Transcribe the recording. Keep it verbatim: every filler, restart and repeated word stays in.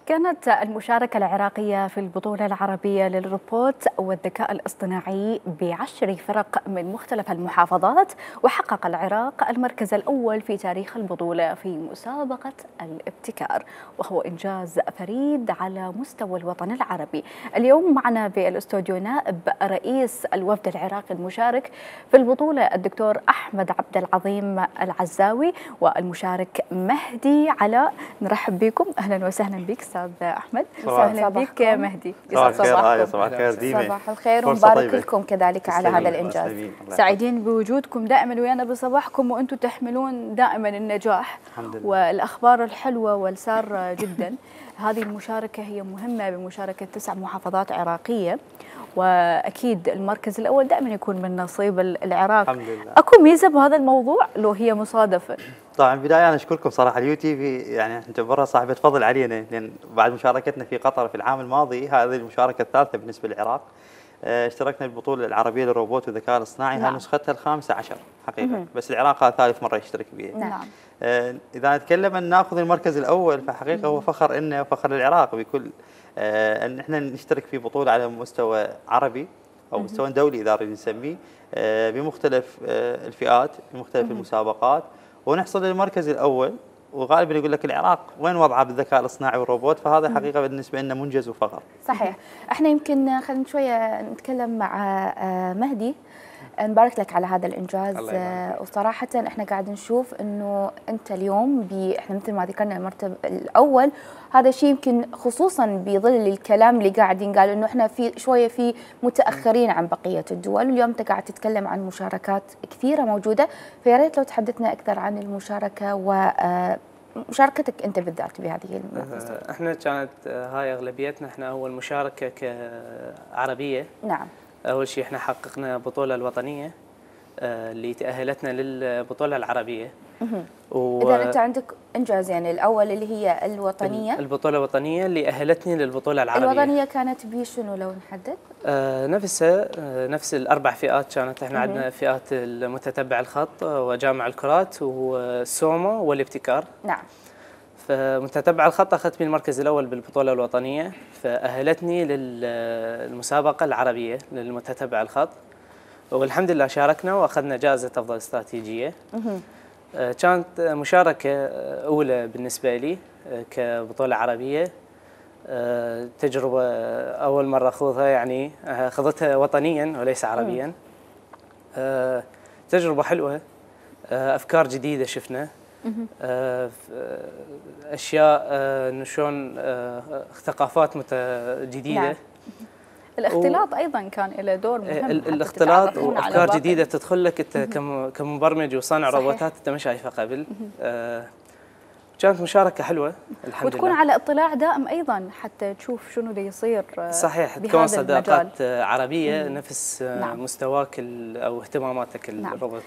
كانت المشاركة العراقية في البطولة العربية للروبوت والذكاء الاصطناعي بعشر فرق من مختلف المحافظات، وحقق العراق المركز الأول في تاريخ البطولة في مسابقة الابتكار، وهو إنجاز فريد على مستوى الوطن العربي. اليوم معنا بالاستوديو نائب رئيس الوفد العراقي المشارك في البطولة الدكتور أحمد عبد العظيم العزاوي والمشارك مهدي علاء. نرحب بكم، أهلا وسهلا بك أستاذ أحمد. وسهلا بك مهدي. صباح الخير. صباح الخير ديما. صباح الخير ومبارك لكم كذلك على هذا الإنجاز. سعيدين بوجودكم دائما ويانا بصباحكم، وأنتم تحملون دائما النجاح والأخبار الحلوة والسارة جدا. هذه المشاركة هي مهمة بمشاركة تسع محافظات عراقية، واكيد المركز الاول دائما يكون من نصيب العراق. الحمد لله. اكو ميزه بهذا الموضوع لو هي مصادفه؟ طبعا بدايه انا اشكركم صراحه اليو تي في، يعني تعتبرها صاحبه فضل علينا، لان بعد مشاركتنا في قطر في العام الماضي هذه المشاركه الثالثه بالنسبه للعراق. اشتركنا بالبطوله العربيه للروبوت والذكاء الاصطناعي، هاي نسختها الخامسه عشر حقيقه، مم. بس العراق هذا ثالث مره يشترك بها. نعم. اذا نتكلم ان ناخذ المركز الاول فحقيقه هو فخر لنا وفخر للعراق بكل ان احنا نشترك في بطوله على مستوى عربي او مستوى دولي اذا نريد نسميه، بمختلف الفئات بمختلف المسابقات، ونحصل للمركز الاول. وغالبا يقول لك العراق وين وضعه بالذكاء الاصطناعي والروبوت، فهذا حقيقه بالنسبه لنا منجز وفخر. صحيح. احنا يمكن خلينا شويه نتكلم مع مهدي. نبارك لك على هذا الانجاز، وصراحه احنا قاعد نشوف انه انت اليوم احنا مثل ما ذكرنا المرتب الاول، هذا الشيء يمكن خصوصا بظل الكلام اللي قاعد ينقال انه احنا في شويه في متاخرين عن بقيه الدول، واليوم انت قاعد تتكلم عن مشاركات كثيره موجوده، فيا ريت لو تحدثنا اكثر عن المشاركه ومشاركتك انت بالذات بهذه المنافسه. احنا كانت هاي اغلبيتنا، احنا اول مشاركه كعربيه. نعم. أول شيء إحنا حققنا البطولة الوطنية اللي تأهلتنا للبطولة العربية. و... إذا أنت عندك إنجاز، يعني الأول اللي هي الوطنية. البطولة الوطنية اللي أهلتني للبطولة العربية. الوطنية كانت بشنو لو نحدد؟ آه نفسها آه نفس الأربع فئات كانت. إحنا عندنا فئات المتتبع الخط وجامع الكرات والسومو والابتكار. نعم. فمتتبع الخط أخذت من المركز الأول بالبطولة الوطنية، فأهلتني للمسابقة العربية للمتتبع الخط، والحمد لله شاركنا وأخذنا جائزة أفضل استراتيجية. كانت مشاركة أولى بالنسبة لي كبطولة عربية، تجربة أول مرة أخوضها، يعني أخذتها وطنيا وليس عربيا. تجربة حلوة، أفكار جديدة شفنا، اشياء شلون ثقافات جديده. نعم. الاختلاط و... ايضا كان له دور مهم. الاختلاط وافكار جديده تدخل لك انت كمبرمج وصانع روبوتات انت ما شايفها قبل. آه كانت مشاركه حلوه الحمد وتكون لله. على اطلاع دائم ايضا حتى تشوف شنو اللي يصير. صحيح. تكون صداقات عربيه مم. نفس نعم. مستواك او اهتماماتك نعم. الروبوت.